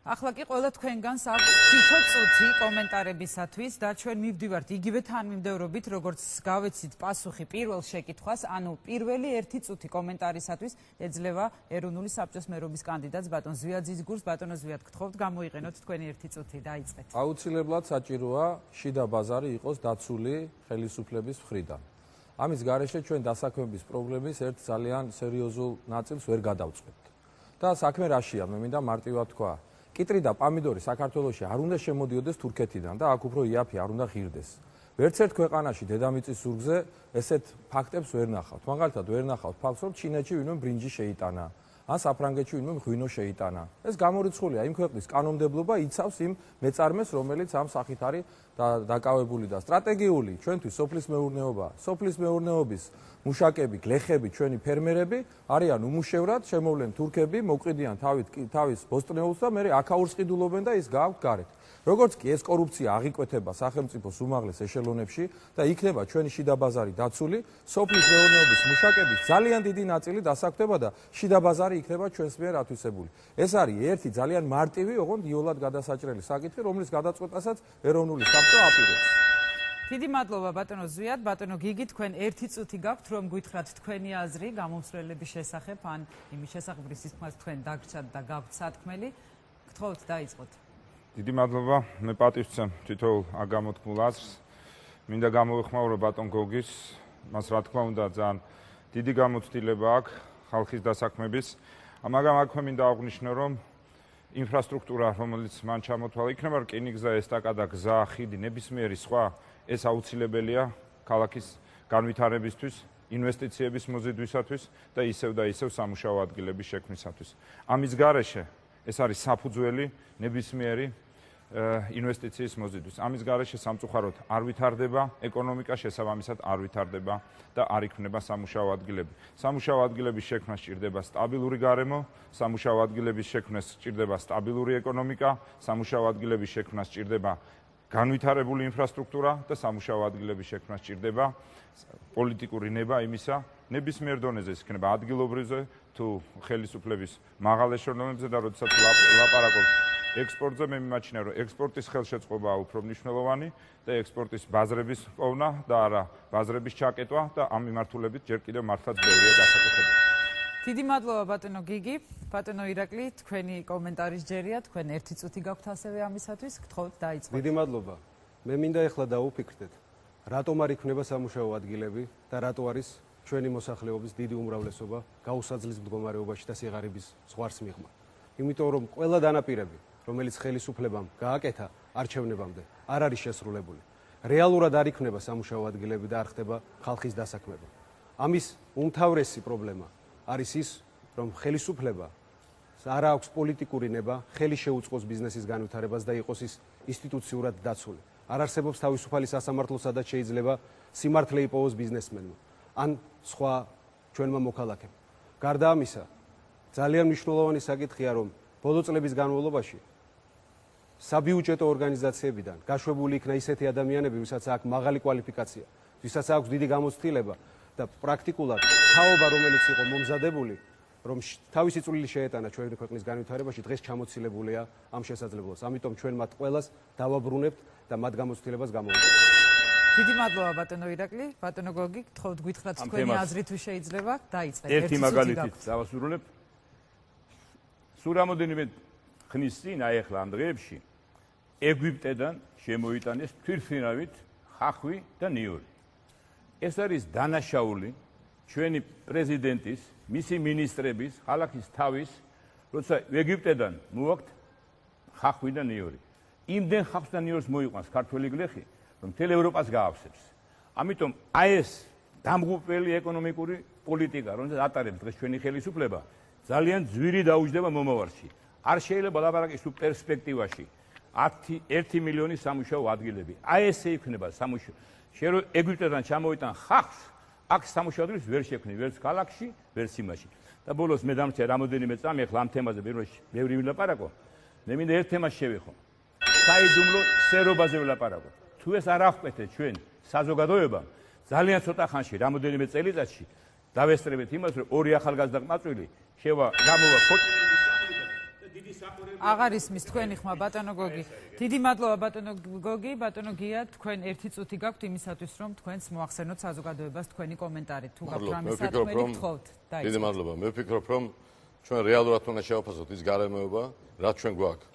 ახლა კი ყველა თქვენგანს აქვს თითო წუთი კომენტარებისათვის და ჩვენ მივდივართ იგივე თანმიმდევრობით, როგორც გავეცით პასუხი პირველ შეკითხვას, ანუ პირველი 1 წუთი კომენტარისათვის ეძლევა ეროვნული საბჭოს მერობის კანდიდატს ბატონ ზვიაძის გურს. ბატონო ზვიად, გთხოვთ გამოიყენოთ თქვენი 1 წუთი, დაიწყეთ. აუცილებლად საჭიროა შიდა ბაზარი იყოს დაცული ხელისუფლების მხრიდან. ამის გარეშე ჩვენ დასაქმების პრობლემის ერთ ძალიან სერიოზულ ნაწილს ვერ გადავწყვეტთ. და საქმე რაშია, მე მინდა მარტივად თქვა. კიტრი და პამიდორი საქართველოში არ უნდა შემოდიოდეს თურქეთიდან და აქ უფრო იაფი არ უნდა ღირდეს. ვერც ერთ ქვეყანაში დედამიწის ზურგზე ესეთ ფაქტებს ვერ ნახავთ. მაგალითად ვერ ნახავთ ფაქტს, რომ ჩინეთში ვინმე ბრინჯი შეიტანა, ან საფრანგეთში ვინმე ღვინო შეიტანა. ეს გამორიცხულია იმ ქვეყნის კანონმდებლობა იცავს იმ მეწარმეს, რომელიც ამ სახით არის დაკავებული და სტრატეგიული ჩვენთვის სოფლის მეურნეობა, სოფლის მეურნეობის მუშაკები, გლეხები, ჩვენი ფერმერები არიან უმუშევრად, შემოვლენ თურქები, მოვყიდიან თავის ბოსტნეულს და მე აქაურს ყიდულობენ და ის გააქვთ გარეთ. როგორც კი ეს კორუფცია აღიკვეთება სახელმწიფოს უმაღლეს ეშელონებში და იქნება ჩვენი შიდა ბაზარი დაცული, სოფლის მეურნეობის მუშაკების ძალიან დიდი ნაწილი დასაქმდება და შიდა ბაზარი იქნება ჩვენს მიერ ათვისებული. ეს არის ერთი ძალიან მარტივი, ოღონდ იოლად გადასაჭრელი საკითხი, რომლის გადაწყვეტასაც ეროვნული საბჭო აპირებს. დიდი მადლობა ბატონო ზვიად, ბატონო გიგი, თქვენ 1 წუთი გაქვთ, რომ გითხრათ თქვენი აზრი გამომსვლელების შესახებ, ან იმის შესახებ, რის თქმას თქვენ დაგრჩათ და გაქვთ სათქმელი. გთხოვთ, დაიწყოთ. დიდი მადლობა, მე პატივს ვცემ თითოეულ აგამოთქმულ აზრს. მინდა გამოვეხმაურო ბატონ გოგის, მას რა თქმა უნდა ძალიან დიდი გამოცდილება აქვს ხალხის დასაქმების. მაგრამ აქვე მინდა აღვნიშნო, რომ ინფრასტრუქტურა, რომელიც მან ჩამოთვალა, იქნება რკინიგზა, ესტაკადა, გზა, ხიდი, ნებისმიერი სხვა, ეს აუცილებელია ქალაქის განვითარებისთვის, ინვესტიციების მოზიდვისათვის და ისევ სამუშაო ადგილების შექმნისათვის. ამის გარეშე ეს არის საფუძველი ნებისმიერი ინვესტიციის მოზიდვის. ამის გარეშე სამწუხაროდ არ ვითარდება ეკონომიკა, შესაბამისად არ ვითარდება და არ იქმნება სამუშაო ადგილები. სამუშაო ადგილების შექმნას სჭირდება სტაბილური გარემო, სამუშაო ადგილების შექმნას სჭირდება სტაბილური ეკონომიკა, სამუშაო ადგილების შექმნას სჭირდება განვითარებული ინფრასტრუქტურა და სამუშაო ადგილების შექმნას სჭირდება პოლიტიკური ნება იმისა, ნებისმიერ დონეზე ის იქნება ადგილობრივზე თუ ხელისუფლების მაღალ ეშელონებზე და როდესაც ლაპარაკობთ ექსპორტზე, მე მიმაჩნია, რომ ექსპორტის ხელშეწყობაა უფრო მნიშვნელოვანი და ექსპორტის ბაზრების პოვნა და არა ბაზრების ჩაკეტვა და ამ მიმართულებით ჯერ კიდევ მართლაც ბევრია გასაკეთებელი. დიდი მადლობა ბატონო გიგი, ბატონო ირაკლი, თქვენი კომენტარის ჯერია, თქვენ 1 წუთი გაქვთ ასევე ამისათვის, გთხოვთ დაიწყოთ. დიდი მადლობა. მე მინდა ეხლა დავუფიქრდეთ, რატომ არ იქნება სამუშაო ადგილები და რატო არის ჩვენი მოსახლეობის დიდი უმრავლესობა გაუსაძლის მდგომარეობაში და სიღარიბის ზღვარს მიღმა. იმიტომ რომ ყველა დანაპირები, რომელიც ხელისუფლებამ გააკეთა არჩევნებამდე, არ არის შესრულებული. რეალურად არ იქნება სამუშაო ადგილები და არ ხდება ხალხის დასაქმება. ამის უმთავრესი პრობლემა არის ის, რომ ხელისუფლება არ აქვს პოლიტიკური ნება, ხელი შეუწყოს ბიზნესის განვითარებას და იყოს ის ინსტიტუციურად დაცული. არ არსებობს თავისუფალი სასამართლო, სადაც შეიძლება სიმართლე იპოვოს ბიზნესმენმა ან სხვა ჩვენმა მოქალაქემ. გარდა ამისა, ძალიან მნიშვნელოვანი საკითხია, რომ ბოლო წლების განმავლობაში საბიუჯეტო ორგანიზაციებიდან გაშვებული იქნა ისეთი ადამიანები, ვისაც აქვს მაღალი კვალიფიკაცია, ვისაც აქვს დიდი გამოცდილება და პრაქტიკულად თაობა, რომელიც იყო მომზადებული, რომ თავისი წვლილი შეეტანა ჩვენი ქვეყნის განვითარებაში, დღეს ჩამოცილებულია ამ შესაძლებლობას. ამიტომ ჩვენ მათ ყველას დავაბრუნებთ და მათ გამოცდილებას გამოვიყენებთ. დიდი მადლობა ბატონო ირაკლი, ბატონო გოგი, გთხოვთ გითხრათ თქვენი აზრი თუ შეიძლება, დაიწყეთ. ერთი მაგალითით დავასრულებ. სულ რამოდენიმე ხნის წინ ახლა ამ დღეებში ეგვიპტედან შემოიტანეს თვითმფრინავით ხახვი და ნიური. ეს არის დანაშაული ჩვენი პრეზიდენტის, მისი მინისტრების, ხალხის თავის, როცა ეგვიპტედან მოვაქვთ ხახვი და ნიური. იმდენ ხახვს და ნიორს მოიყვანს ქართველი გლეხი, რომ მთელ ევროპას გაავსებს. ამიტომ აი ეს დამღუპველი ეკონომიკური პოლიტიკა, რომელსაც ატარებს დღეს ჩვენი ხელისუფლება, ძალიან ძვირი დაუჯდება მომავალში. არ შეიძლება ლაპარაკის თუ პერსპექტივაში 1 მილიონი სამუშაო ადგილები. აი ესე იქნება სამუშაო. შენ რო ეგვიპტედან ჩამოვიტან ხახს, აქ სამუშაო ადგილს ვერ შექმნი, ვერც ქალაქში, ვერც იმაში. და ბოლოს მე დამრჩა რამოდენიმე წამი, ახლა ამ თემაზე ბევრი ვილაპარაკო. მე მინდა ერთ თემას შევეხო. საიდუმლო სერობაზე ვილაპარაკო. თუ ეს არ აღკვეთეთ ჩვენ საზოგადოებამ, ძალიან ცოტა ხანში, რამოდენიმე წელიწადში დავესწრებით იმას, რომ ორი ახალგაზრდა ყმაწვილი გამოვა დიდი საყურებელი აღარ ისმის თქვენი ხმა ბატონო გოგი. დიდი მადლობა ბატონო გოგი, ბატონო გია, თქვენ 1 წუთი გაქვთ იმისათვის, რომ თქვენს მოახსენოთ საზოგადოებას თქვენი კომენტარი. თუ გაქვთ რამე სათქმელი გთხოვთ. დიდი მადლობა. მე ვფიქრობ, რომ ჩვენ რეალურად უნდა შევაფასოთ ის გარემოება, რაც ჩვენ გვაქვს.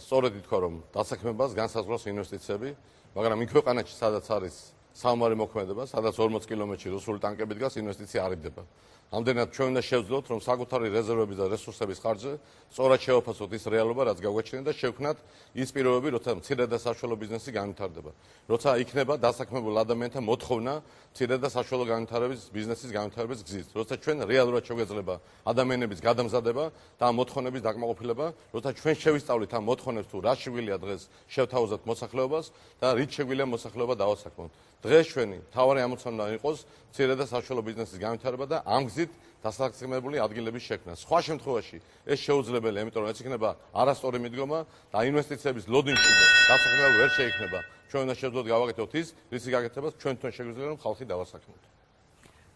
სწორედ ითქვა, რომ დასაქმებას განსაზღვრავს ინვესტიციები, მაგრამ იმ ქვეყანაში, სადაც არის საომარი მოქმედება, სადაც 40 კილომეტრში რუსული ტანკები დგას, ინვესტიცია არ იდება. ამდენად ჩვენ უნდა შევძლოთ, რომ საკუთარი რეზერვების და რესურსების ხარჯზე სწორად შევაფასოთ ის რეალობა, რაც გაგვაჩნია და შევქმნათ ის პირობები, როცა მცირე და საშუალო ბიზნესი განვითარდება. როცა იქნება დასაქმებულ ადამიანთა მოთხოვნა მცირე და საშუალო განვითარების ბიზნესის განვითარების გზით. როცა ჩვენ რეალურად შეგვეძლება ადამიანების გადამზადება და ამ მოთხოვნების დაკმაყოფილება, როცა ჩვენ შევისწავლით ამ მოთხოვნებს თუ რა შეგვიძლია დღეს შევთავაზოთ მოსახლეობას და რით შეგვიძლია მოსახლეობა დავასაქმოთ. დღეს ჩვენი მთავარი ამოცანა იყოს მცირე და საშუალო ბიზნესის განვითარება და ამ გზით დასაქმებული ადგილების შექმნა. სხვა შემთხვევაში ეს შეუძლებელია, იმიტომ რომ ეს იქნება არასწორი მიდგომა და ინვესტიციების ლოდინში დასაქმება ვერ შეიქმნება. ჩვენ უნდა შევძლოთ გავაკეთოთ ის, რისი გაკეთებას ჩვენ თვითონ შეგვიძლია, რომ ხალხი დავასაქმოთ.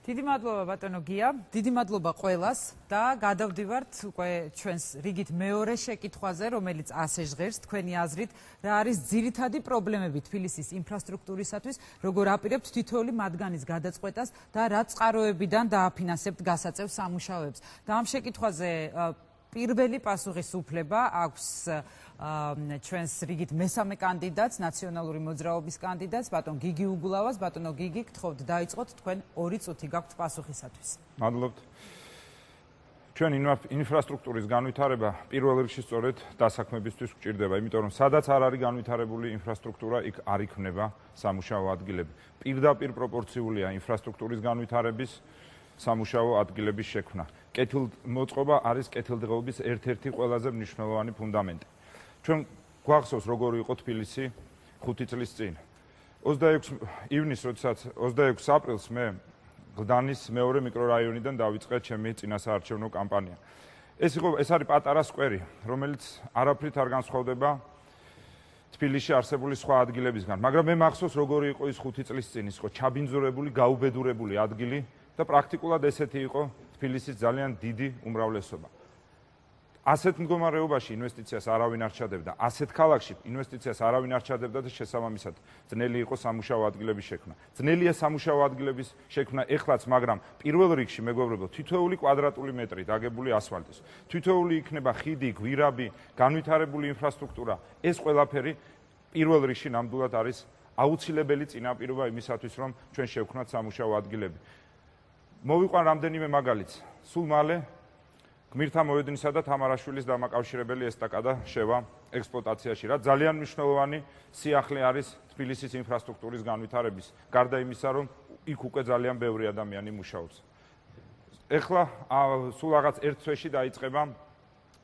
დიდი მადლობა ბატონო გია, დიდი მადლობა ყველას და გადავდივართ უკვე ჩვენს რიგით მეორე შეკითხვაზე, რომელიც ასე ჟღერს თქვენი აზრით, რა არის ძირითადი პრობლემები თბილისის ინფრასტრუქტურისათვის, როგორ აპირებთ თითოეული მათგანის გადაწყვეტას და რა წყაროებიდან დააფინანსებთ გასაწევ სამუშაოებს. და ამ შეკითხვაზე პირველი პასუხისუფლება აქვს ჩვენს რიგით მესამე კანდიდატს, ნაციონალური მოძრაობის კანდიდატს, ბატონ გიგი უგულავას. ბატონო გიგი, გთხოვთ დაიწყოთ, თქვენ 2 წუთი გაქვთ პასუხისათვის. მადლობთ. ჩვენ ინფრასტრუქტურის განვითარება პირველ რიგში სწორედ დასაქმებისთვის გვჭირდება, იმიტომ რომ სადაც არ არის განვითარებული ინფრასტრუქტურა, იქ არ იქნება სამუშაო ადგილები. პირდაპირ პროპორციულია ინფრასტრუქტურის განვითარების სამუშაო ადგილების შექმნა. კეთილმოწყობა არის კეთილდღეობის ერთ-ერთი ყველაზე მნიშვნელოვანი ფუნდამენტი. ჩვენ გვახსოვს როგორი იყო თბილისი 5 წლის წინ. 26 ივნისს, როდესაც 26 აპრილს მე გლდანის მეორე მიკრორაიონიდან დავიწყე ჩემი წინასაარჩევნო კამპანია. ეს არის პატარა სკვერი, რომელიც არაფრით არ განსხვავდება თბილისში არსებული სხვა ადგილებისგან, მაგრამ მე მახსოვს როგორი იყო ის 5 წლის წინ, ის იყო ჩაბინძურებული, გაუბედურებული ადგილი და პრაქტიკულად ესეთი იყო თბილისის ძალიან დიდი უმრავლესობა. ასეთ მდგომარეობაში ინვესტიციას არავინ არ ჩადებდა, ასეთ ქალაქში ინვესტიციას არავინ არ ჩადებდა და შესაბამისად ძნელი იყო სამუშაო ადგილების შექმნა. ძნელია სამუშაო ადგილების შექმნა ეხლაც, მაგრამ პირველ რიგში მეგობრებო, თითოეული კვადრატული მეტრი დაგებული ასფალტის, თითოეული იქნება ხიდი, გვირაბი, განვითარებული ინფრასტრუქტურა, ეს ყველაფერი პირველ რიგში ნამდვილად არის აუცილებელი წინაპირობა იმისათვის, რომ ჩვენ შევქმნათ სამუშაო ადგილები. მოვიყვან რამდენიმე მაგალითს. სულ მალე გმირთა მოედნისა და თამარაშვილის დამაკავშირებელი ესტაკადა შევა ექსპლუატაციაში, რაც ძალიან მნიშვნელოვანი სიახლე არის თბილისის ინფრასტრუქტურის განვითარების, გარდა იმისა, რომ იქ უკვე ძალიან ბევრი ადამიანი მუშაობს. ეხლა სულ რაღაც 1 თვეში დაიწყება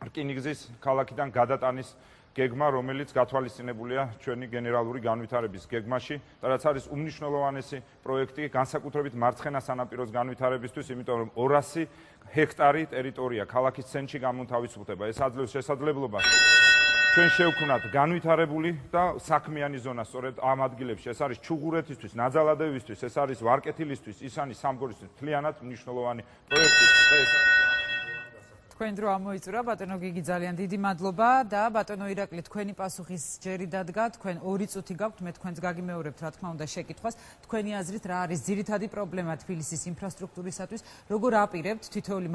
რკინიგზის ქალაქიდან გადატანის გეგმა, რომელიც გათვალისწინებულია ჩვენი გენერალური განვითარების გეგმაში და რაც არის უმნიშვნელოვანესი პროექტი განსაკუთრებით მარცხენა სანაპიროს განვითარებისთვის, იმიტომ რომ 200 ჰექტარი ტერიტორია ქალაქის ცენტრში გამოთავისუფლდება. ეს აძლევს შესაძლებლობას ჩვენ შევქმნათ განვითარებული და საქმიანი ზონა სწორედ ამ ადგილებში. ეს არის ჩუღურეთისთვის, ნაძალადევისთვის, ეს არის ვარკეთილისთვის, ისანი სამგორისთვის მთლიანად მნიშვნელოვანი პროექტი. თქვენ დრო ამოიწურა, ბატონო გიგი, ძალიან დიდი მადლობა და ბატონო ირაკლი, თქვენი პასუხის ჯერი დადგა, თქვენ 2 წუთი გაქვთ, მე თქვენს გაგიმეორებთ, რა თქმა უნდა, შეკითხვას. თქვენი აზრით რა არის ძირითადი პრობლემა თბილისის ინფრასტრუქტურისათვის, როგორ აპირებთ თითოეული